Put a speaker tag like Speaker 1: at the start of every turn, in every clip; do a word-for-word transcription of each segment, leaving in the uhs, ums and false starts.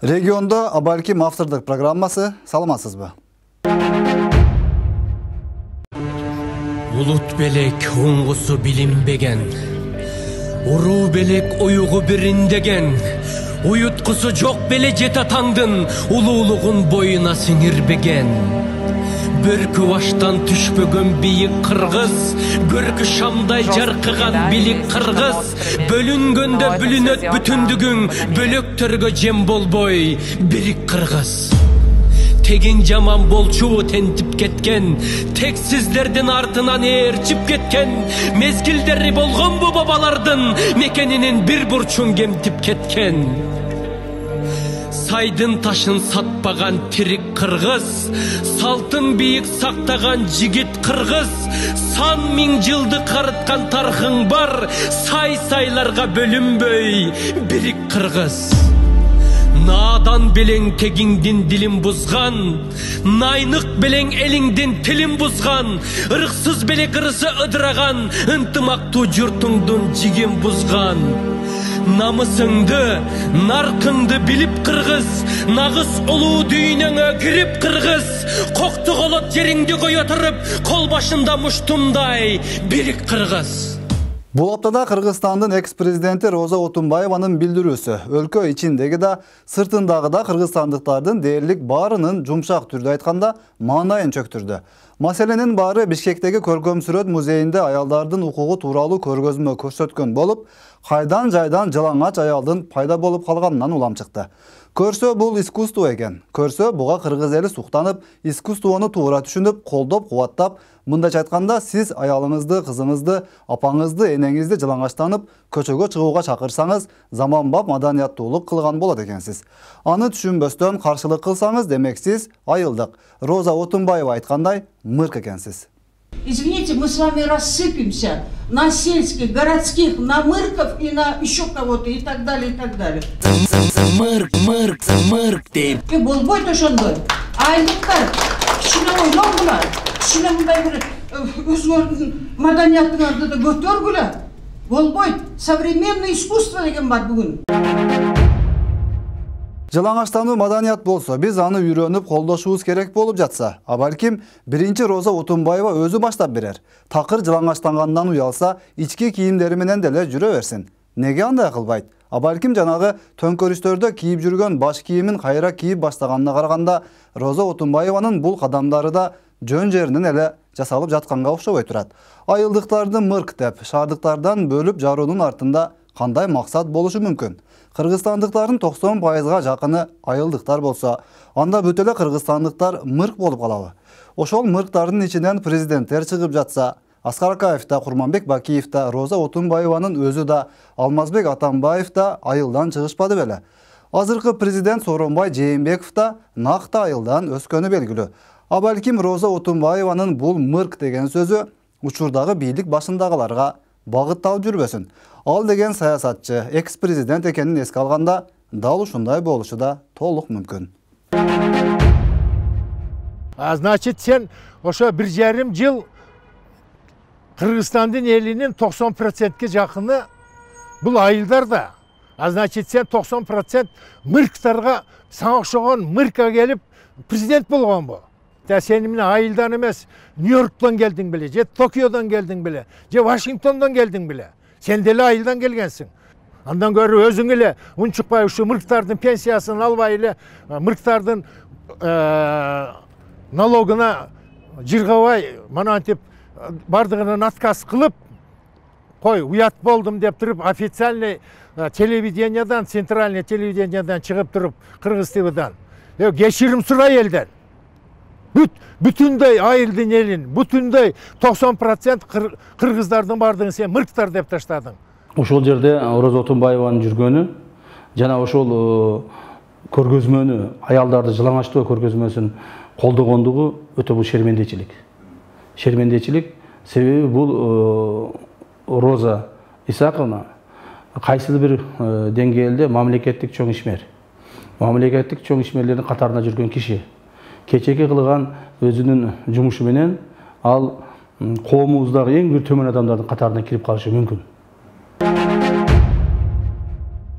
Speaker 1: Регионда Абалким автордук программасы, саламатсызбы?
Speaker 2: Улут белек оңгусу билинбеген, уруу белек уюгу бириндеген, уюткусу жок беле жет атаңдын улуулугун боюна сиңирбеген. Бөркү баштан түшпөгөн бийик кыргыз, көркү шамдай жаркыган билик кыргыз, бөлүнгөндө бүлүнөт бүтүндүгүң, бөлөктөргө жем болбой бирик кыргыз. Тегин жаман болчу тентип кеткен, тексиздердин артынан ээрчип кеткен, мезгилдери болгон бу бабалардын мекенинин бир бурчун кемтип кеткен. Сайдын ташын сатпаган тирик кыргыз, салтын бийик сактаган жигит кыргыз, сан миң жылды карыткан тархың бар, сай-сайларга бөлүнбөй бирик кыргыз. Надан белең тегиңдин дилин бузган, найнык белең элиңдин тилин бузган, ырксыз белек ырысы ыдыраган, ынтымактуу журтуңдун жигин бузган. Намысыңды, наркыңды билип кыргыз, нагыз улуу дүйнөңө кирип кыргыз, кокту колот жериңди кое туруп, кол башында муштумдай бирик кыргыз.
Speaker 1: Бул аптада Кыргызстандын экс-президенти Роза Отунбаеванын билдирүүсү өлкө ичиндеги да, сыртындагы да кыргызстандыктардын дээрлик баарынын жумшак түрдө айтканда маанайын чөктүрдү. Маселенин баары Бишкектеги Көркөм сүрөт музейинде аялдардын укугу тууралуу көргөзмө көрсөткөн болуп, кайдан жайдан жалаңач аялдын пайда болуп калганынан улам чыкты. Көрсө бул искусство экен. Көрсө буга кыргыз эли суктанып, искусствону туура түшүнүп, колдоп, кубаттап, мындайча айтканда, сиз аялыңызды, кызыңызды, апаңызды, энеңизди жалаңачтанып, көчөгө чыгууга чакырсаңыз, заманбап маданияттуулук кылган болот экенсиз. Аны түшүнбөстөн каршылык кылсаңыз, демек сиз айылдык. Роза Отунбаева айткандай, мырк экенсиз.
Speaker 3: Извините, мы с вами рассыпемся на сельских, городских, на мырков и на еще кого-то и так далее, и так далее.
Speaker 2: Мырк, мырк, мырк деп.
Speaker 3: И болбой ошондой. Айылдыктар кичине ойлонгула, кичине мындай бир өзүңөрдүн маданиятыңарды да көтөргүлө. Болбойт. Современное искусство деген бар бүгүн.
Speaker 1: Жалаңаштануу маданият болсо, биз аны үйрөнүп колдошубуз керек болуп жатса, а балким биринчи Роза Отунбаева өзү баштап берер. Такыр жалаңаштангандан уялса, ички кийимдери менен деле жүрө берсин. Неге андай кылбайт? А балким жанагы төңкөрүштөрдө кийип жүргөн баш кийимин кайра кийип баштаганына караганда, Роза Отунбаеванын бул кадамдары да жөн жеринен эле жасалып жатканга окшобой турат. Айылдыктарды мырк деп, шаардыктардан бөлүп жаруунун артында кандай максат болушу мүмкүн? Кыргызстандыктардын токсон пайызга жакыны айылдыктар болсо, анда бүт эле кыргызстандыктар мырк болуп калабы? Ошол мырктардын ичинен президенттер чыгып жатса, Аскар Акаев да, Курманбек Бакиев да, Роза Отунбаеванын өзү да, Алмазбек Атамбаев да айылдан чыгышпады беле. Азыркы президент Сооронбай Жээнбеков да накта айылдан өскөнү белгилүү. А балким Роза Отунбаеванын бул мырк деген сөзү учурдагы бийлик башындагыларга багытталып жүрбөсүн. Ал деген саясатчы, экс-президент экенин эске алганда, дал ушундай болушу да толук мүмкүн.
Speaker 4: А значит, сен ошо бир жарым жыл Кыргызстандын элинин токсон процентке жакыны бул айылдарда. А значит, сен токсон процент мырктарга, сага окшогон мыркка келип президент болгонбу? Да сен эмне айылдан эмес, Нью-Йорктон келдиң беле, же Токиодон келдиң беле, же Вашингтондон келдиң беле? Сен деле айылдан келгенсиң. Андан көрү өзүң эле унчукпай ушу мырктардын пенсиясын албай эле, мырктардын налогуна жыргабай, манантип бардыгынан отказ кылып, кой, уят болдум деп туруп, официальный телевидениядан, центральный телевидениядан чыгып туруп, Кыргыз ТВдан. Кечирим сурай элден. Бүтүндөй айылдын элин, бүтүндөй токсон процент кыргыздардын бардыгын сен мырктар деп таштадың.
Speaker 5: Ошол жерде Роза Отунбаеванын жүргөнү, жана ошол көргөзмөнү, аялдарды жалаңачтоо көргөзмөсүн колдогондугу өтө бул шермендечилик. Шермендечилик, себеби бул Роза Исаковна кайсыл бир деңгээлде мамлекеттик чоң ишмер. Мамлекеттик чоң ишмерлердин катарына жүргөн киши. Кечеге кылган өзүнүн жумушу менен ал коомубуздагы эң бир төмөн адамдардын катарына кирип калышы мүмкүн.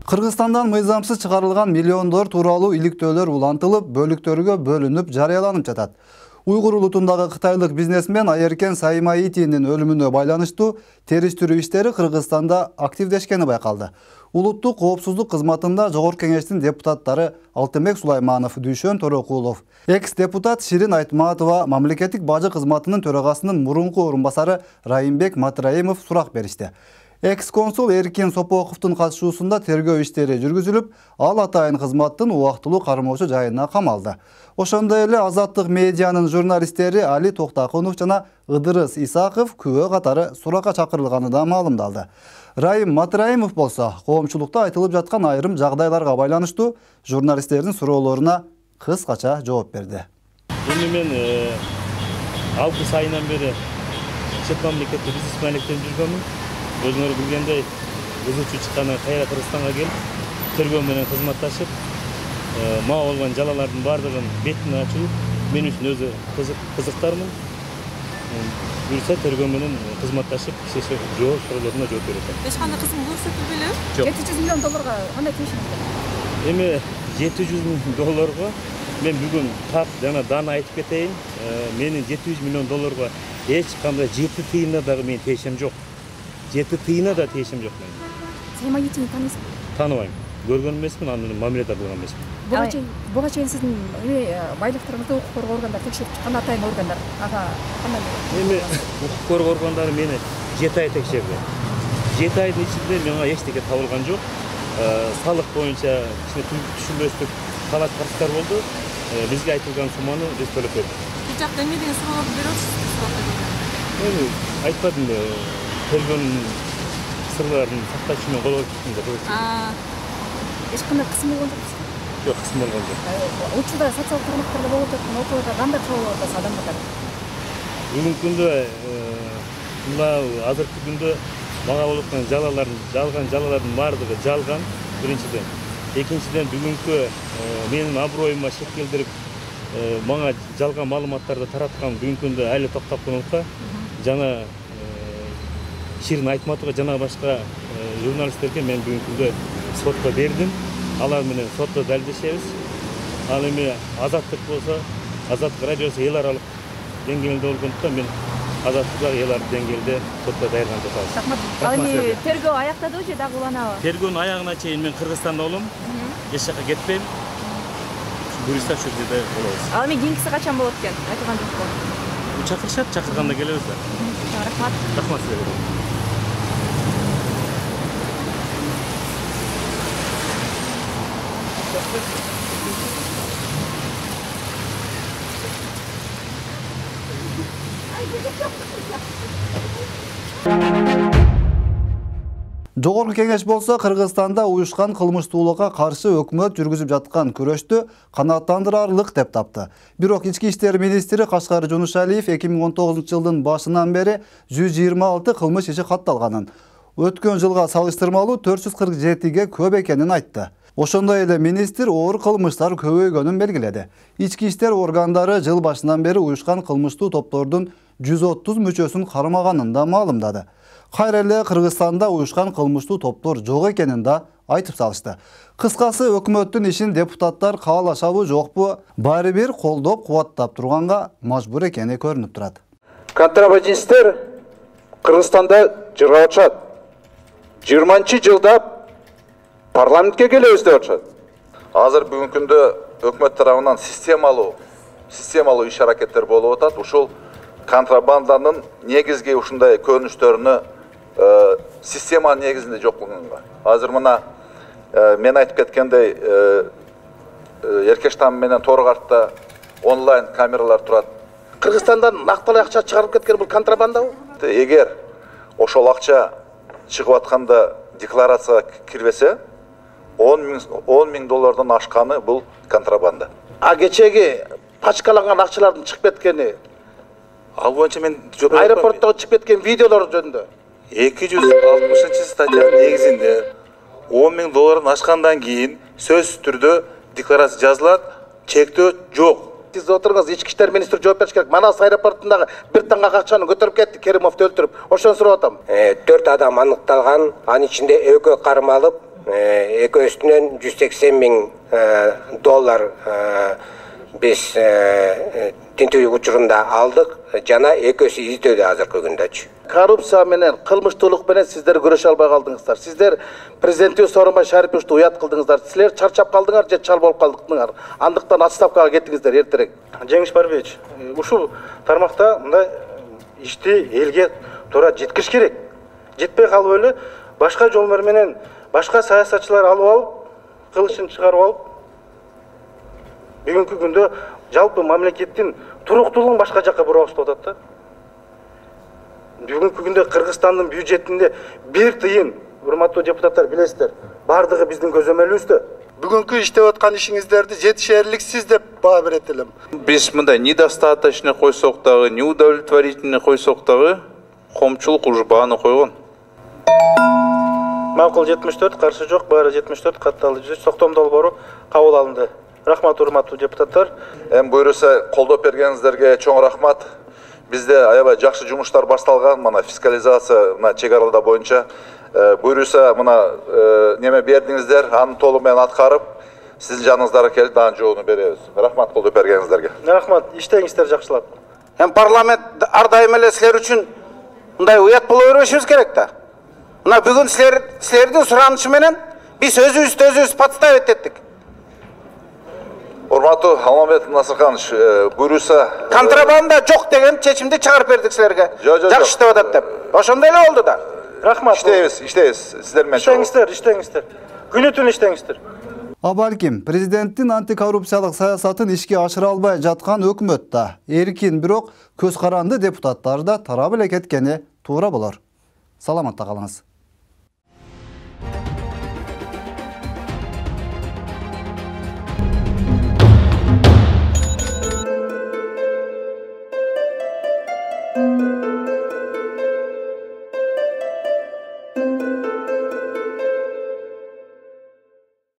Speaker 1: Кыргызстандан мыйзамсыз чыгарылган миллиондор тууралуу иликтөөлөр улантылып, бөлүктөргө бөлүнүп жарыяланып жатат. Уйгур улутундагы кытайлык бизнесмен Айеркен Саймаитинин өлүмүнө байланыштуу териштирүү иштери Кыргызстанда активдешкени байкалды. Улуттук коопсуздук кызматында Жогорку кеңештин депутаттары Алтынбек Сулайманов, Дүйшөн Торокулов, экс-депутат Ширин Айтматова, мамлекеттик бажы кызматынын төрагасынын мурунку орун басары Райымбек Матраимов сурак беришти. Экс-консул Эркин Сопоковдун катышуусунда тергөө иштери жүргүзүлүп, ал атайын кызматтын убактылуу кармоочу жайына камалды. Ошондой эле Азаттык медианын журналисттери Али Токтакунов жана Ыдырыс Исаков күбө катары суракка чакырылганы да маалымдалды. Райым Матраимов болсо, коомчулукта айтылып жаткан айрым жагдайларга байланыштуу журналисттердин суроолоруна кыскача жооп берди.
Speaker 6: Эми мен август айынан бери чет мамлекетте бизнес маалектенип жүргөмүн. Өзүңөр билгендей, өзүчү чыкканы кайра Кыргызстанга келип, тергөө менен кызматташып, мага болгон жалалардын бардыгын бетин ачуу мен үчүн өзү кызыктармын. Буюрса тергөө менен кызматташып, киши жооп суроолоруна жооп берет.
Speaker 7: Эч кандай кызым көрсөтүлбөлү?
Speaker 6: жети жүз миллион долларга кандай тийишиңиз бар? Эми жети жүз миң долларга мен бүгүн так жана дан айтып кетейин, менин жети жүз миллион долларга эч кандай жети тыйына дагы менин тиешем жок. Жети тыйына да тиешем жок мен.
Speaker 7: Саймаитини таанысызбы?
Speaker 6: Тааныбайм. Көргөн эмесмин, аны мамиледе кылган эмесмин.
Speaker 7: Буга чейин, буга чейин сиздин байлыктарыңызды укук коргоо органдары текшерип чыккан, атайын органдар. Ага, кандай?
Speaker 6: Эми укук коргоо органдары мени жети ай текшерди. жети айдын ичинде мага эчтеке табылган жок. Салык боюнча кичине түшүнбөстүк талап тарыштар болду. Бизге айтылган сумманы биз төлөп бердик.
Speaker 7: Бул жакта эмне деген суроолорду берип атышсыз?
Speaker 6: Эми айтпадымбы, тергөөнүн сырларын сакташ үчүн кол коюп туруп жатат.
Speaker 7: Эч кандай кысым болгон жокпузбу?
Speaker 6: Жок, кысым болгон жок.
Speaker 7: Учурда социалдык тармактарда болуп жаткан окуяларга кандай кабыл алат адамдар?
Speaker 6: Бүгүнкү күндө мына азыркы күндө мага болуп аткан жалалардын, жалган жалалардын бардыгы жалган, биринчиден. Экинчиден бүгүнкү менин аброюма шек келтирип, мага жалган маалыматтарды тараткан бүгүнкү күндө али Токтокуновго жана Ширин Айтматовго жана башка журналисттерге мен бүгүнкү күндө сотко бердим. Алар менен сотто далилдешебиз. Ал эми Азаттык болсо, Азаттык радиосу эл аралык деңгээлде болгондуктан мен Азаттык эл аралык деңгээлде сотто даярданып жатабыз.
Speaker 7: Рахмат. Ал эми тергөө аяктадыбы же дагы уланабы?
Speaker 6: Тергөөнүн аягына чейин мен Кыргызстанда болом. Эч жака кетпейм. Буюрса ошол жерде болобуз.
Speaker 7: Ал эми кийинкиси качан болот экен? Айтылган жокпу?
Speaker 6: Чакырышат, чакырганда келебиз да.
Speaker 7: Рахмат.
Speaker 6: Рахмат сизге.
Speaker 1: Жогорку кеңеш болсо Кыргызстанда уюшкан кылмыштуулукка каршы өкмөт жүргүзүп жаткан күрөштү канааттандырарлык деп тапты. Бирок ички иштер министри Кашкар Жунушалиев эки миң он тогузунчу жылдын башынан бери жүз жыйырма алты кылмыш иши катталганын, өткөн жылга салыштырмалуу төрт жүз кырк жетиге көп экенин айтты. Ошондой эле министр оор кылмыштар көбөйгөнүн белгиледи. Ички иштер органдары жыл башынан бери уюшкан кылмыштуу топтордун жүз отуз мүчөсүн кармаганын да маалымдады. Кайра эле Кыргызстанда уюшкан кылмыштуу топтор жок экенин да айтып салышты. Кыскасы, өкмөттүн ишин депутаттар каалашабы жокпу, баары бир колдоп кубаттап турганга мажбур экени көрүнүп турат.
Speaker 8: Контрабандисттер Кыргызстанда жырга атышат. жыйырманчы жылда парламентке келебиз деп атышат. Азыр бүгүнкү күндө өкмөт тарабынан системалуу системалуу иш аракеттер болуп атат. Ушул контрабанданын негизги ушундай көрүнүштөрүнө система негизинде жок кылганга. Азыр мына мен айтып кеткендей Эркештам менен Торгартта онлайн камералар турат.
Speaker 9: Кыргызстандан накталуу акча чыгарып кеткен бул контрабандабы?
Speaker 8: Эгер ошол акча чыгып атканда декларацияга кирбесе, он миң доллардан ашканы бул контрабанда.
Speaker 9: А кечеги пачкаланган акчалардын чыгып кеткени,
Speaker 8: ал боюнча мен
Speaker 9: аэропорттогу чыгып кеткен видеолор жөнүндө
Speaker 8: эки жүз алтымышынчы статьянын негизинде он миң доллардан ашкандан кийин сөзсүз түрдө декларация жазылат, чектөө жок.
Speaker 9: Сиз отургуңуз, ички иштер министри жооп бериш керек. Манас аэропортундагы бир таңга акчаны көтөрүп кетти, Керимовду өлтүрүп. Ошону сурап атам.
Speaker 10: төрт адам аныкталган, анын ичинде экөө кармалып, экөөсүнөн жүз сексен миң доллар биз тинтүү учурунда алдык, жана экөөсү издөөдө азыркы күндөчү.
Speaker 9: Коррупция менен, кылмыштуулук менен сиздер күрөшө албай калдыңыздар. Сиздер президенттиги Сооронбай Шариповичти уят кылдыңыздар. Силер чарчап калдыңар же чал болуп калдыңар. Андыктан отставкага кеттиңиздер эртерээк.
Speaker 11: Жеңиш Барбевич, ушул тармакта мындай ишти элге туура жеткириш керек. Жетпей калып эле башка жол менен башка саясатчылар алып алып, кылышын чыгарып алып, бүгүнкү күндө жалпы мамлекеттин туруктуулугун башка жакка буруп алышып атат да. Бүгүнкү күндө Кыргызстандын бюджетинде бир тыйын, урматтуу депутаттар, билесиздер, бардыгы биздин көзөмөлүбүздө.
Speaker 12: Бүгүнкү иштеп аткан ишиңиздерди жетишерликсиз деп баа берет элем.
Speaker 8: Биз мындай недостаточно койсок дагы, неудовлетворительно койсок дагы, коомчулук уже бааны койгон.
Speaker 11: Макул жетимиш төрт, каршы жок, баары жетимиш төрт, катталды жүз токтом долбоору кабыл алынды. Рахмат урматтуу депутаттар.
Speaker 8: Эми буюрса колдоп бергениңиздерге чоң рахмат. Бизде аябай жакшы жумуштар башталган, мына фискализация мына чек аралар боюнча. Буюрса мына неме бердиңиздер, аны толук менен аткарып, сиздин жаныңыздарга келип анын жообун беребиз. Рахмат колдоп бергениңиздерге.
Speaker 11: Рахмат, иштеңиздер жакшылап.
Speaker 10: Эми парламент ар дайым эле силер үчүн мындай уят боло бербешибиз керек да. Мына бүгүн силер силердин суранышы менен биз өзүбүздү өзүбүз подставить эттик.
Speaker 8: Урматтуу Алмамбет Насырканович, буюрса
Speaker 10: контрабанда жок деген чечимди чыгарып бердик силерге. Жакшы иштеп атат деп. Ошондой эле болду да.
Speaker 11: Рахмат.
Speaker 8: Иштейбиз, иштейбиз. Сиздер менен
Speaker 11: иштеңиздер, иштеңиздер. Күнү түн иштеңиздер.
Speaker 1: А балким президенттин антикоррупциялык саясатын ишке ашыра албай жаткан өкмөт да, эркин бирок көз каранды депутаттар да тарап эле кеткени туура болор. Саламатта калыңыз.
Speaker 13: Thank you.